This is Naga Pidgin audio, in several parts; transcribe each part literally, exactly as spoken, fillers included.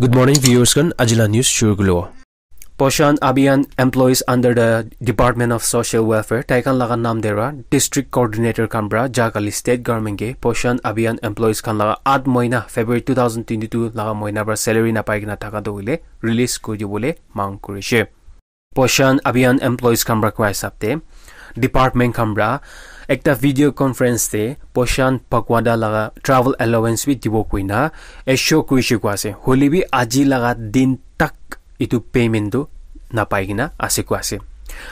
Good morning, viewers khan. Ajila news shuru kulo. Poshan Abhiyan employees under the Department of Social Welfare, tai khan laga naam de ra district coordinator khan pra ja kali state government ke Poshan Abhiyan employees khan laga at moina February two thousand twenty-two laga moina pra salary na pai kena thaka to hoile release kuri dibole mang kurishe. Poshan Abhiyan employees khan pra kua hisab te department khan pra ekta video conference te Poshan Pakhwada laga travel allowance bi dibo koina assure kurishe kua ase. Hoile bi aji laga din tak etu payment tu napai kena ase kua ase.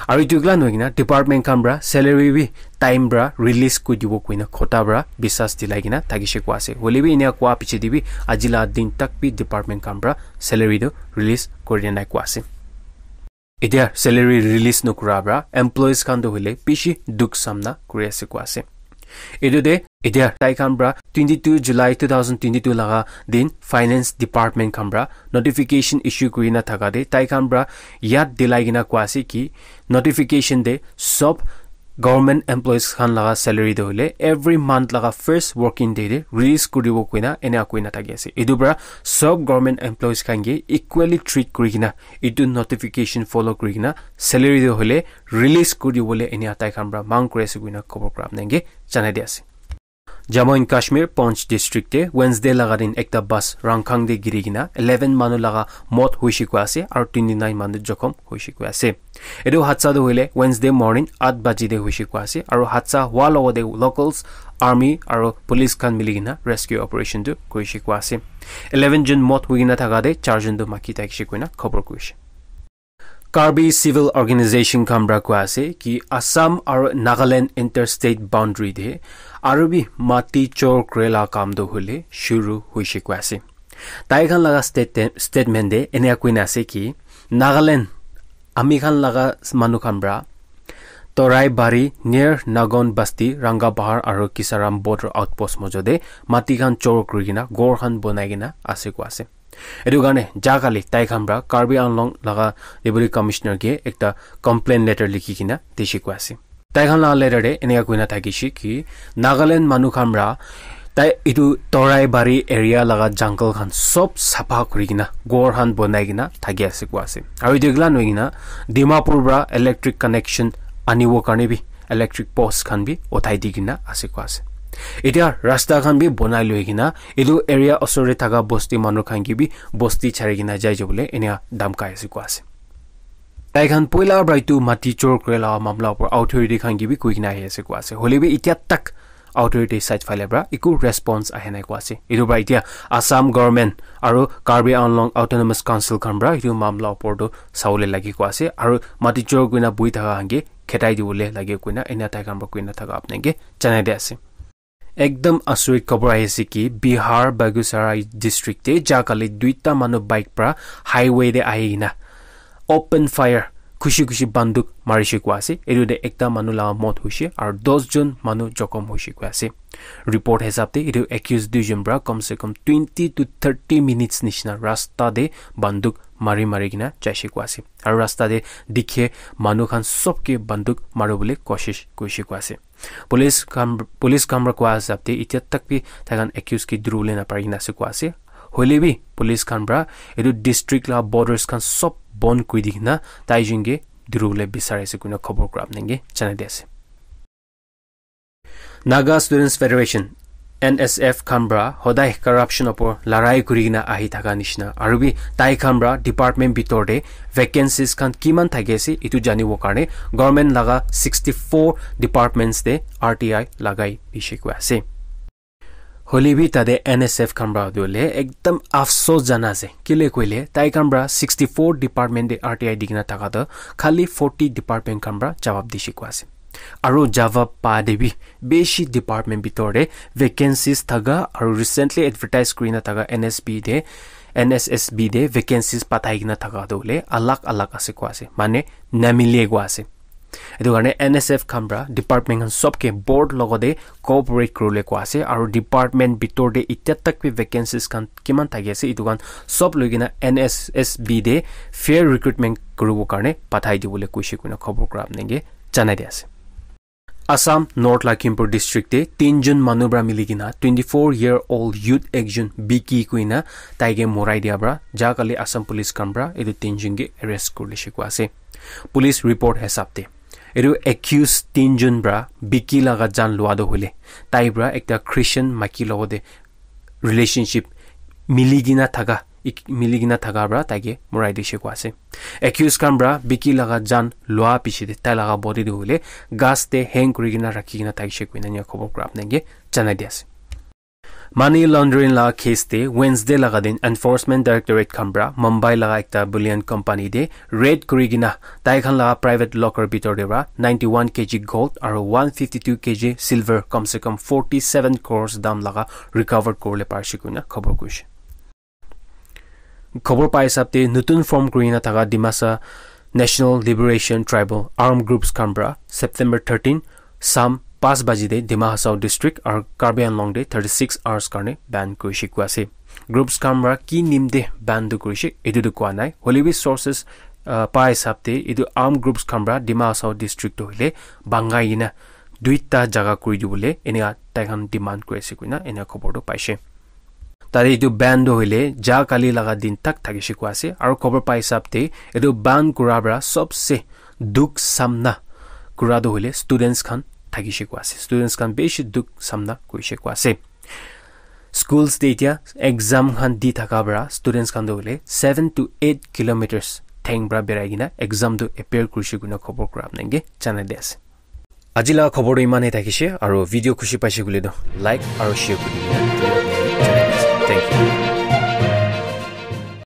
Aru etu kila nohoi kena department khan pra salary bi time pra release kuri dibo koina khota pra bisas dilai kena thakishe kua ase. Hoile bi enia kua piche te bi aji la din tak bi department khan pra salary tu release kuri dia nai kua ase. Etia salary release nokura pra employees khan tu hoile bishi dukh samna kuri ase kua ase. Etu te etia tai khan pra twenty-two July two thousand twenty-two laga din finance department khan pra notification issue kuri na thaka te tai khan pra yad dilai kena kua ase ki notification te sob government employees khan laga salary tu hoile every month laga first working day te release kuri dibo koina enia koina thaki ase. Etu pra sob government employees khan ke equally treat kuri kena etu notification follow kuri kena salary tu hoile release kuri dibole enia tai khan pra mang kuri ase koina khobor kura apnange janai di ase. Jammu and Kashmir Poonch district te Wednesday laga din ekta bus Rangkhang te giri kena eleven manu laga mot hoishe kua ase aru twenty-nine manu jokhom hoishe kua ase. Etu hadsa tu hoile Wednesday morning eight baji te hoishe kua ase aru hadsa hua logo te locals, army aru police khan mili kena rescue operation tu kurishe kua ase. Eleven jon mot hoi kena thaka te char jon tu maki thakishe koina khobor kurishe. Karbi civil organization khan pra kua ase ki Assam aru Nagaland interstate boundary te aru bi mati chor kure la kam tu hoile shuru hoishe kua ase. Tai khan laga state-, statement te enia koina ase ki Nagaland ami khan laga manu khan pra Torai Bari near Nagon Basti, Ranga Bahar aru Kisaram border outpost mojo te mati khan chor kuri kena ghor khan bonai kena ase kua ase. Etu karne ja kali tai khan pra Karbi Anglong laga Deputy Commissioner ke ekta complaint letter likhi kena dishe kua ase. Tai khan laga letter te eneka koina thakishe ki Nagaland manu khan pra tai etu Torai Bari area laga jungle khan sob sapha kuri kena ghor khan bonai kena thaki ase kua ase. Aru etu ekla nohoi kena Dimapur pra electric connection anibo karne bi electric post khan bi uthai di kena ase kua ase. Etia rasta khan bi bonai loi kena etu area osor te thaka bosti manu khan ke bi bosti chari kena jai jabole enia dhamkai ase kua ase. Tai khan poila pra etu mati chor kure la mamla upor authority khan ke bi koi kena ahi ase kua ase. Hoile bi etia tak authority side phale pra eku response ahe nai kua ase. Etu pra etia Assam government aru Karbi Anglong Autonomous Council khan pra etu mamla upor tu sawole lage kua ase. Aru mati chor koina bui thaka khan ke khetai dibole lage koina enia tai khan pra koina thaka apnange janai di ase. Ekdam asurit khobor ahi ase ki Bihar Begusarai district te ja kali duita manu bike pra highway te ahi kena open fire khushi khushi banduk marishe kua ase. Etu te ekta manu laga mot hoishe aru dos jon manu jokhom hoishe kua ase. Report hisab te etu accused duijon pra kom se kom twenty to thirty minutes nishina rasta te banduk mari mari kena jaishe kua ase. Aru rasta te dikhe manu khan sob ke banduk maribole koshish kurishe kua ase. Police khan, police khan pra kua hisab te etia tak bi tai khan accused ke duribole napari kena ase kua ase. Hoile bi police khan pra etu district la borders khan sob bon kuri di kena tai jun ke duribole bisari ase koina khobor kura apnange janai di ase. Naga Students Federation, N S F khan pra hodai corruption opor larai kuri kena ahi thaka nishina aru bi tai khan pra department bitor te vacancies khan kiman thaki ase etu janibo karne government laga sixty-four departments te R T I lagai dishe kua ase. Hoile bi tate N S F khan pra tu hoile ekdam afsos jana ase. Kile koile tai khan pra sixty-four department te R T I di kena thaka toh khali forty department khan pra jawab dishe kua ase. Aru jawab pa te bi bishi department bitor te vacancies thaka aru recently advertise kuri na thaka N S B te, N S S B te vacancies pathai kena thaka toh hoile alag alag ase kua ase. Mane namile kua ase. Etu karne N S F khan pra department khan sob ke board logote cooperate kuribole kua ase aru department bitor te etia tak bi vacancies khan kiman thaki ase etu khan sob loi kena N S S B te fair recruitment kuribo karne pathai dibole koishe koina khobor kura apnange janai di ase. Assam North Lakhimpur district te tinjun manu pra mili kena twenty-four year old youth ekjun Biki kuina taike morai dia pra ja kali Assam police khan pra etu tinjun ke arrest kurile she kua ase. Police report hisab te etu accused tinjun pra Biki laga jan lua toh hoile tai pra ekta Christian maki logote relationship mili kena thaka ik- mili kena thaka pra taike morai dishe kua ase. Accused khan pra Biki laga jan lua piche te tai laga body toh hoile ghas te hang kuri kena rakhi kena thakishe koina enia khobor kura apnai ke janai di ase. Money laundering laga case te Wednesday laga din Enforcement Directorate khan pra Mumbai laga ekta bullion company te raid kuri kena tai khan laga private locker bitor te pra ninety-one K G gold aro one fifty-two K G silver kam se kam forty-seven crores dam laga recovered kuribole parishe koina khobor kurishe. Khobor pai hisab te nutun form kurina thaka Dimasa National Liberation Tribal Armed Groups khan pra September thirteen sam pas baji te Dima Hasao district aru Karbi Anglong te thirty-six hours karne ban kurishe kua ase. Groups khan pra ki nim te ban tu kurishe etu tu kua nai. Hoile bi sources uh, pai hisab te etu armed groups khan pra Dima Hasao district tu hoile bangai kena duita jaga kuri dibole eneka tai khan demand kuri ase koina eneka khobor tu paishe. Tate etu ban tu hoile ja kali laga din tak thakishe kua ase aru khobor pai hisab te etu ban kura pra sobse dukh samna kura tu hoile students khan thakishe kua ase. Students khan bishi dukh samna kurishe kua ase. Schools te etia exam khan di thaka pra students khan tu hoile seven to eight kilometers theng pra berai kena exam tu appear kurishe koina khobor kura apnai ke janai di ase. Aji laga khobor tu iman he thakishe aru video khushi paishe koile tu like aru share kuri dina janai di ase. Thank you.